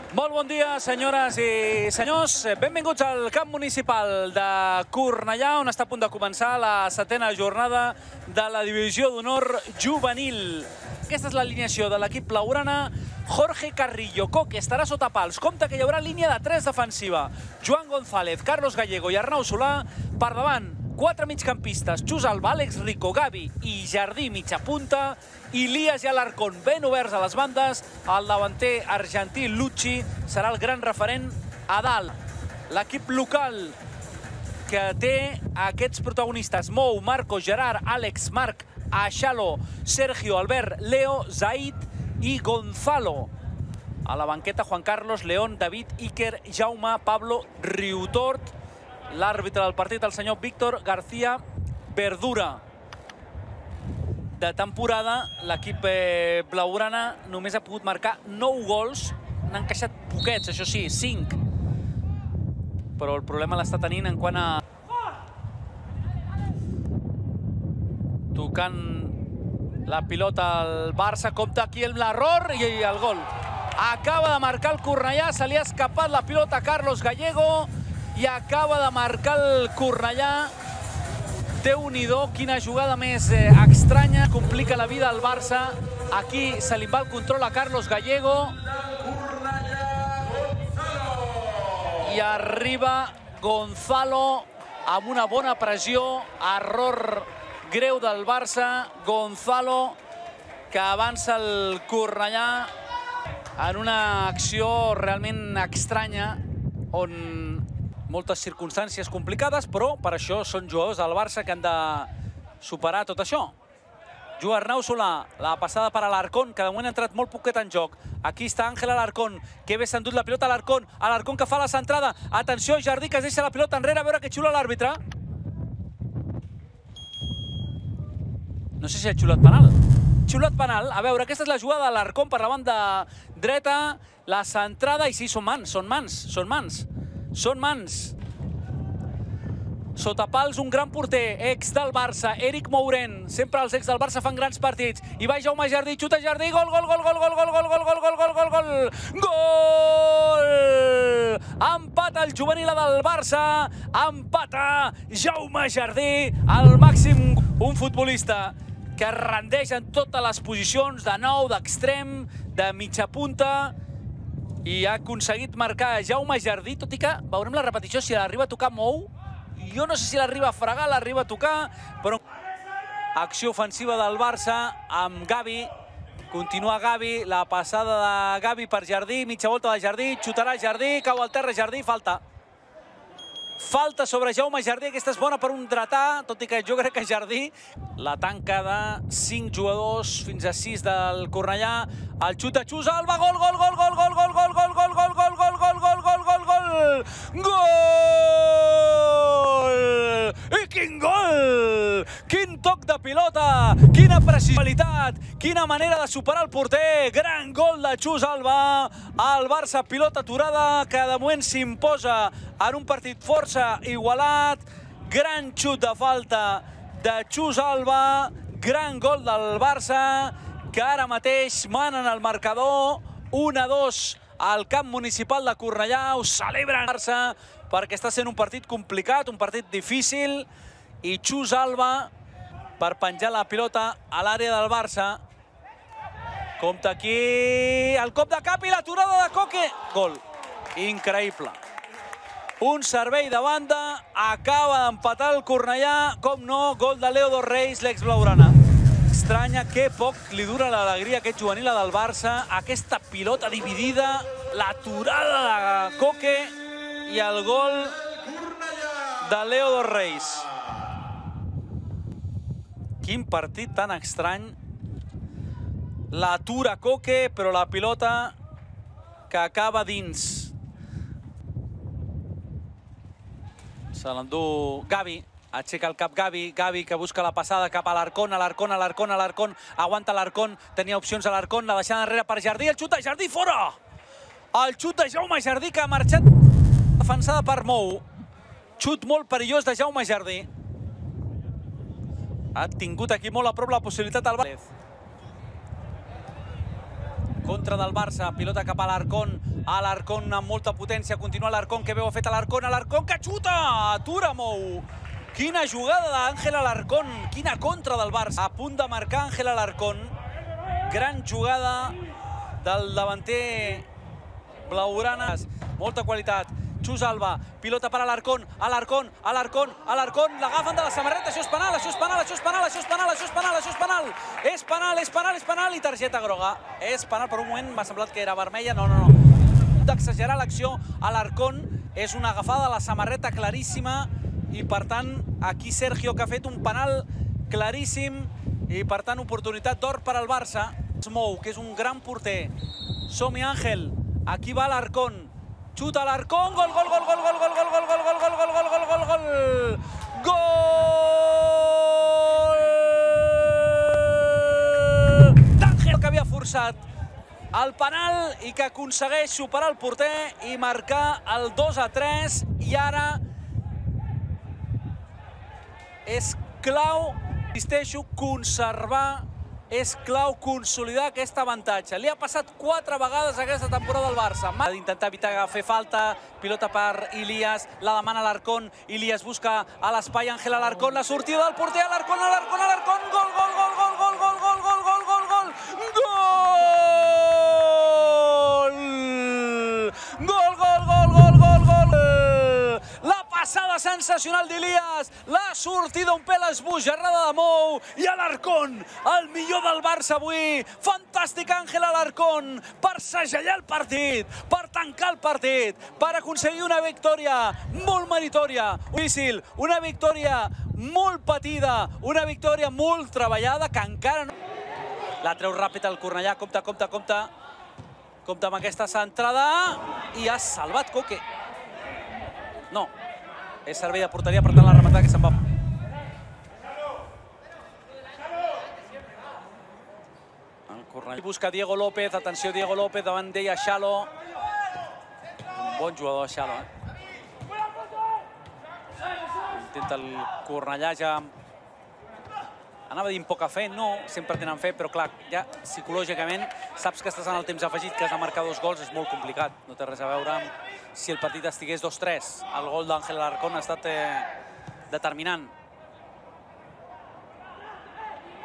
Molt bon dia, senyores i senyors. Benvinguts al camp municipal de Cornellà, on està a punt de començar la 7a jornada de la Divisió d'Honor Juvenil. Aquesta és l'alineació de l'equip blaugrana. Jorge Carrillo, Coque, estarà sota pals. Compte que hi haurà línia de 3 defensiva. Joan González, Carlos Gallego i Arnau Solà. Per davant, 4 migcampistes. Xus Alba, Àlex Rico, Gavi i Jardí mitja punta. Ilias i Alarcón ben oberts a les bandes. El davanter argentí Lucci serà el gran referent a dalt. L'equip local que té aquests protagonistes: Mou, Marco, Gerard, Àlex, Marc, Axalo, Sergio, Albert, Leo, Zaid i Gonzalo. A la banqueta, Juan Carlos, León, David, Iker, Jaume, Pablo, Riutort. L'àrbitre del partit, el senyor Víctor García Verdura. De temporada, l'equip blaugrana només ha pogut marcar 9 gols. N'han encaixat poquets, això sí, 5. Però el problema l'està tenint en quant a... Tocant la pilota al Barça, compta aquí l'error i el gol. Acaba de marcar el Cornellà, se li ha escapat la pilota a Carlos Gallego i acaba de marcar el Cornellà. Déu-n'hi-do, quina jugada més estranya. Complica la vida al Barça. Aquí se li va el control a Carlos Gallego. I arriba Gonzalo amb una bona pressió. Error greu del Barça. Gonzalo, que avança el Cornellà en una acció realment estranya, on moltes circumstàncies complicades, però per això són jugadors del Barça que han de superar tot això. Juga Arnau Solà, la passada per Alarcón, que de moment ha entrat molt poquet en joc. Aquí està Ángel Alarcón, que bé s'ha endut la pilota a Alarcón. Alarcón que fa la centrada. Atenció, Jardí, que es deixa la pilota enrere, a veure que xula l'àrbitre. No sé si ha xulat penal. Xulat penal. A veure, aquesta és la jugada d'Alarcón per la banda dreta. La centrada, i sí, són mans, són mans, són mans. Són mans. Sota pals, un gran porter, ex del Barça, Eric Mourent. Sempre els ex del Barça fan grans partits. I va Jaume Jardí, xuta Jardí, gol, gol, gol, gol, gol, gol, gol, gol, gol, gol, gol, gol, gol, gol! Empata el juvenil del Barça, empata Jaume Jardí, al màxim. Un futbolista que es rendeix en totes les posicions, de nou, d'extrem, de mitja punta, i ha aconseguit marcar Jaume Jardí, tot i que veurem la repetició si l'arriba a tocar Mou. Jo no sé si l'arriba a fregar, l'arriba a tocar, però... Acció ofensiva del Barça amb Gavi. Continua Gavi, la passada de Gavi per Jardí, mitja volta de Jardí, xutarà Jardí, cau al terra Jardí, falta. Falta sobre Jaume Jardí, aquesta és bona per un dretà, tot i que jo crec que Jardí... La tanca de 5 jugadors fins a 6 del Cornellà. El xut de Xus Alba, gol, gol, gol, gol, gol, gol, gol, gol, gol, gol, gol, gol, gol, gol, gol, gol, gol! Gol! I quin gol! Quin toc de pilota! Quina precisió! Quina manera de superar el porter! Gran gol de Xus Alba! El Barça, pilota aturada, que de moment s'imposa en un partit força igualat. Gran xut de falta de Xus Alba, gran gol del Barça, que ara mateix manen el marcador 1-2 al camp municipal de Cornellà. Ho celebren el Barça perquè està sent un partit complicat, un partit difícil, i Xus Alba per penjar la pilota a l'àrea del Barça. Compte aquí el cop de cap i l'aturada de Coque. Gol. Increïble. Un servei de banda, acaba d'empatar el Cornellà, com no, gol de Leo dos Reis, l'ex blaugrana. Estranya que poc li dura l'alegria aquest juvenil del Barça, aquesta pilota dividida, l'aturada de Coque i el gol de Leo dos Reis. Quin partit tan estrany. L'atura Coque, però la pilota que acaba dins. Se l'endú Gavi, aixeca el cap Gavi, Gavi que busca la passada cap a l'Alarcón, Alarcón, Alarcón, Alarcón, aguanta l'Alarcón, tenia opcions a l'Alarcón, la deixada enrere per Jardí, el xut de Jardí fora! El xut de Jaume Jardí que ha marxat defensada per Mou. Xut molt perillós de Jaume Jardí. Ha tingut aquí molt a prop la possibilitat al València. contra del Barça, pilota cap a l'Arcón, amb molta potència, continua l'Arcón, que bé ho ha fet l'Arcón, que xuta, atura Mou. Quina jugada d'Àngel Alarcón, quina contra del Barça. A punt de marcar Àngel Alarcón, gran jugada del davanter blaugrana, molta qualitat. Xus Alba, pilota per Alarcón, l'agafen de la samarreta, això és penal, és penal i targeta groga. És penal, per un moment m'ha semblat que era vermella, no. D'exagerar l'acció, Alarcón és una agafada de la samarreta claríssima i per tant aquí Sergio que ha fet un penal claríssim i per tant oportunitat d'or per al Barça. Mou, que és un gran porter. Som-hi Àngel, aquí va Alarcón. Xuta l'Arcón, gol! D'Àngel, que havia forçat el penal i que aconsegueix superar el porter i marcar el 2-3. I ara és clau, insisteixo, és clau consolidar aquest avantatge. Li ha passat 4 vegades aquesta temporada al Barça. Ha d'intentar evitar fer falta, pilota per Ilias, la demana l'Arcón, Ilias busca a l'espai Àngel Alarcón, la sortida del porter, Alarcón, gol! La passada sensacional d'Ilias, la sortida un pèl esbojarrada de Mou i Alarcón, el millor del Barça avui. Fantàstic Àngel Alarcón per segellar el partit, per tancar el partit, per aconseguir una victòria molt meritòria, difícil, una victòria molt patida, una victòria molt treballada que encara no... La treu ràpid el Cornellà, compte amb aquesta centrada i ha salvat Coque. No, és servei de porteria, per tant la rematada que se'n va. El Cornellà busca Diego López, atenció Diego López, davant d'ella Xalo. Un bon jugador Xalo. Intenta el Cornellà ja... Anava a dir amb poca fe, no, sempre tenen fe, però clar, ja psicològicament saps que estàs en el temps afegit, que has de marcar 2 gols, és molt complicat. No té res a veure amb si el partit estigués 2-3. El gol d'Àngel Alarcón ha estat determinant.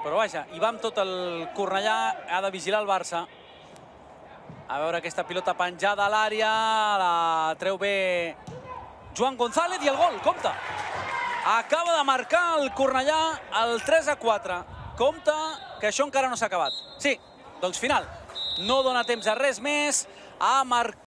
Però vaja, hi va amb tot el Cornellà, ha de vigilar el Barça. A veure aquesta pilota penjada a l'àrea, la treu bé Joan González i el gol, compte! Acaba de marcar el Cornellà el 3-4. Compte que això encara no s'ha acabat. Sí, doncs final. No dona temps a res més. Ha marcat